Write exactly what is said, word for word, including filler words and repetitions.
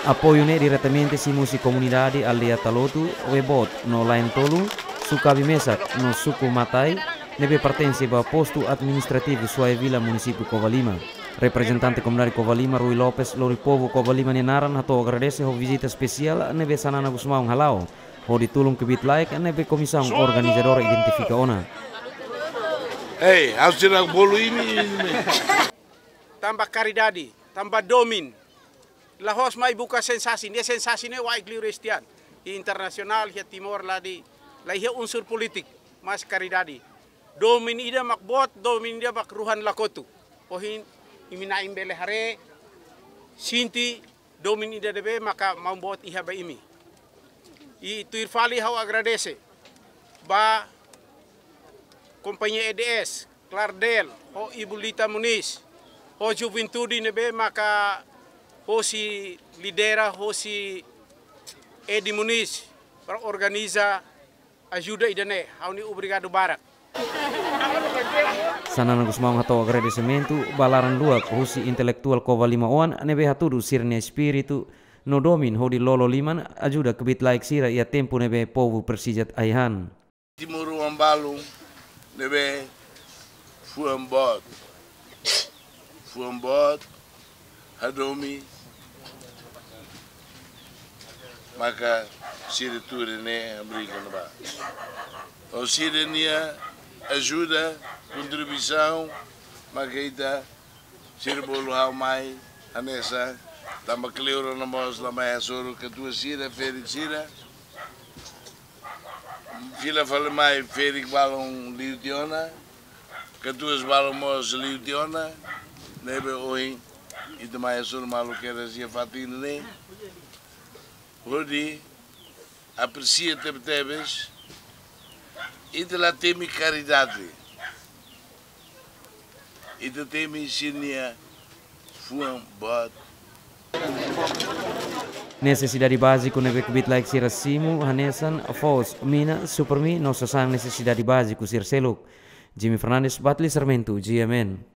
Apoiu ne'e diretamente simu husi komunidade aldeia Talotu, Webot no Laen Tolu, Sukabi Mesak no Suku Matai, ne'ebé pertense ba postu administrativu Suai Vila, munisípiu Covalima. Reprezentante komunidade Covalima, Rui Lopes, lori povu Covalima nia naran hato'o agradese ho vizita espesiál ne'ebé Xanana Gusmão hala'o, hodi tulun kbiit-laek ne'ebé komisaun organizadora identifika ona. Ei, ha'u sira bolu imi, imi. Tanba karidade, tanba domin. La'ós mai buka sensasaun, nia sensasaun ne'e wa'in liu restian. Iha internasionál, iha Timor la di, la iha unsur polítiku, mas karidade. Domin ida mak boot, domin ida mak ruhan la kotu. Ohin, imi na'in bele haree, sente, domin ida ne'ebé maka maun boot iha ba imi. I tuir fali ha'u agradese ba kompañia E D S, Clardel, ho Ibu Lita Moniz, ho juventude ne'ebé maka hosi lidera, hosi Edi Moniz, para organiza ajuda ida-ne'e, ha'u-nia obrigadu barak. Xanana Gusmão hato'o agradesimentu ba laran luak husi intelektuál Covalima oan ne'ebé hatudu sira-nia espíritu no domin hodi lolo liman ajuda kbiit-laek sira iha tempu ne'ebé povu presiza ai-han. Timoroan balu ne'ebé fuan boot. Fuan boot, hadomi, maka sira tuur ne'e hamriik ona ba. Ho sira-nia ajuda, kontribuisaun, maka ita, sira bolu ha'u mai, hanesan, tanba kleur ona mós la mai hasoru, katuas sira, ferik sira. Fila fali mai, ferik balun liu tiha ona, katuas balun mós liu tiha ona, ne'ebé ohin, ita mai hasoru malu kedas iha fatin ne'e. Hodi apresia tebetebes, ita la temi karidade. Ita temi sira-nia fuan boot. Nesesidade báziku ne'ebé kbiit-laek sira simu, hanesan, foos, mina, supermi, no sasán nesesidade báziku sira seluk. Jimmy Fernandes, Batli Sarmento, G M N.